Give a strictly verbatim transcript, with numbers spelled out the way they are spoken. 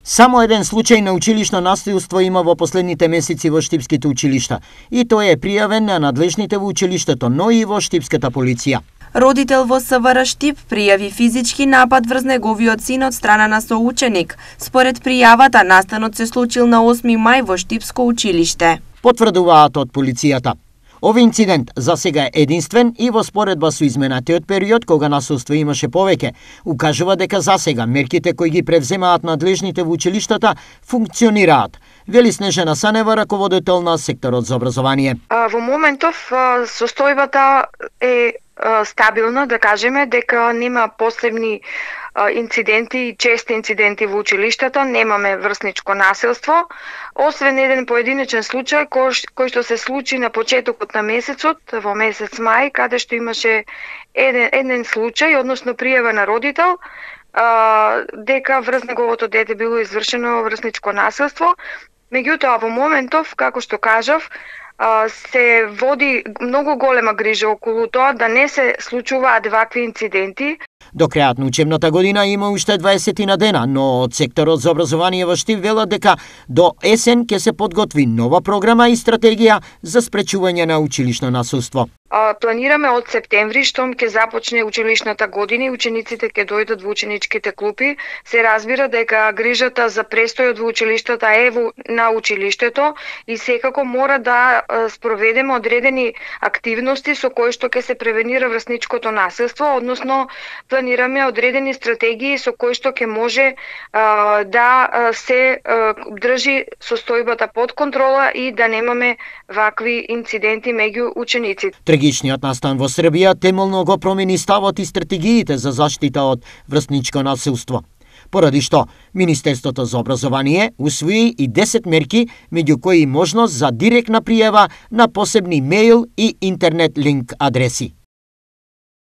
Само еден случај на училишно насилство има во последните месеци во штипските училишта, и тој е пријавен на надлежните во училиштето, но и во штипската полиција. Родител во СВР Штип пријави физички напад врз неговиот син од страна на соученик. Според пријавата, настанот се случил на осми мај во Штипско училиште. Потврдуваат од полицијата. Овој инцидент за сега е единствен и во споредба со изменатиот период кога насилство имаше повеќе, укажува дека за сега мерките кои ги превземаат надлежните во училиштата функционираат. Вели Снежана Санева, раководител на секторот за образование. Во моментов состојбата е стабилна, да кажеме, дека нема посебни инциденти и чести инциденти во училиштата, немаме врсничко насилство, освен еден поединечен случај кој, кој што се случи на почетокот на месецот, во месец мај, каде што имаше еден, еден случај, односно пријава на родител, а, дека врз неговото дете било извршено врсничко насилство. Меѓутоа, во моментов, како што кажав, се води многу голема грижа околу тоа да не се случуваат вакви инциденти. До крајот на учебната година има уште дваесет на дена, но од секторот за образование во Штип велат дека до есен ќе се подготви нова програма и стратегија за спречување на училишно насилство. Планираме од септември, штом ќе започне училишната година и учениците ќе дојдат во ученичките клупи. Се разбира дека грижата за престојот во училиштата е на училиштето и секако мора да спроведеме одредени активности со кои што ќе се превенира врсничкото насилство, односно планираме одредени стратегии со кои што ќе може а, да се а, држи состојбата под контрола и да немаме вакви инциденти меѓу учениците. Трагичниот настан во Србија темелно го промени ставот и стратегиите за заштита од врсничко насилство. Поради што Министерството за образование усвои и десет мерки, меѓу кои можност за директна пријава на посебни мејл и интернет линк адреси.